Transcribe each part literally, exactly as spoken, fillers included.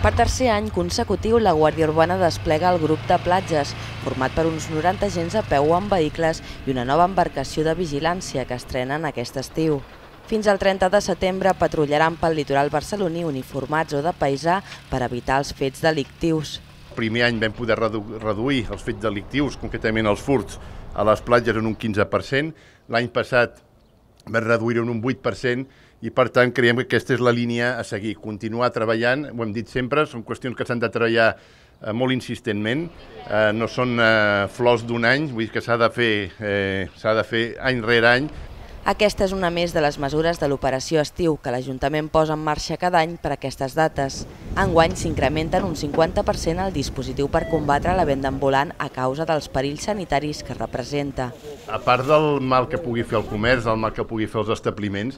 Per tercer any consecutiu, la Guàrdia Urbana desplega el grup de platges, format per uns noranta agents a peu o en vehicles i una nova embarcació de vigilància que estrenen aquest estiu. Fins al trenta de setembre patrullaran pel litoral barceloní uniformats o de paisà per evitar els fets delictius. El primer any vam poder redu reduir els fets delictius, concretament els furts, a les platges en un quinze per cent. L'any passat vam reduir-ho en un vuit per cent i, per tant, creiem que aquesta és la línia a seguir. Continuar treballant, ho hem dit sempre, són qüestions que s'han de treballar eh, molt insistentment. Eh, no són eh, flors d'un any, vull dir que s'ha de fer, eh, s'ha de fer any rere any. Aquesta és una més de les mesures de l'operació estiu que l'Ajuntament posa en marxa cada any per aquestes dates. Enguany s'incrementen un cinquanta per cent el dispositiu per combatre la venda ambulant a causa dels perills sanitaris que representa. A part del mal que pugui fer el comerç, del mal que pugui fer els establiments,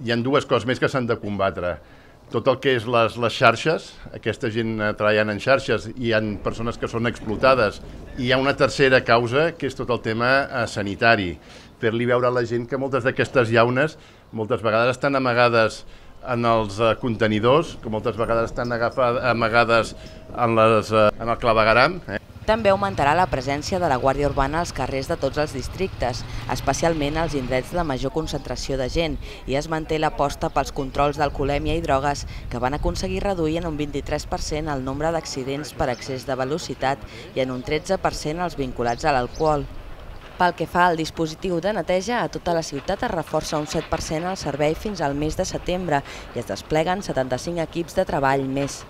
hi ha dues coses més que s'han de combatre. Tot el que és les, les xarxes, aquesta gent treballant en xarxes, hi ha persones que són explotades, i hi ha una tercera causa, que és tot el tema eh, sanitari. Fer-li veure a la gent que moltes d'aquestes llaunes moltes vegades estan amagades en els eh, contenidors, que moltes vegades estan agafades, amagades en, les, eh, en el clavegueram. Eh? També augmentarà la presència de la Guàrdia Urbana als carrers de tots els districtes, especialment als indrets de major concentració de gent, i es manté l'aposta pels controls d'alcoholèmia i drogues, que van aconseguir reduir en un vint-i-tres per cent el nombre d'accidents per excés de velocitat i en un tretze per cent els vinculats a l'alcohol. Pel que fa al dispositiu de neteja, a tota la ciutat es reforça un set per cent el servei fins al mes de setembre i es despleguen setanta-cinc equips de treball més.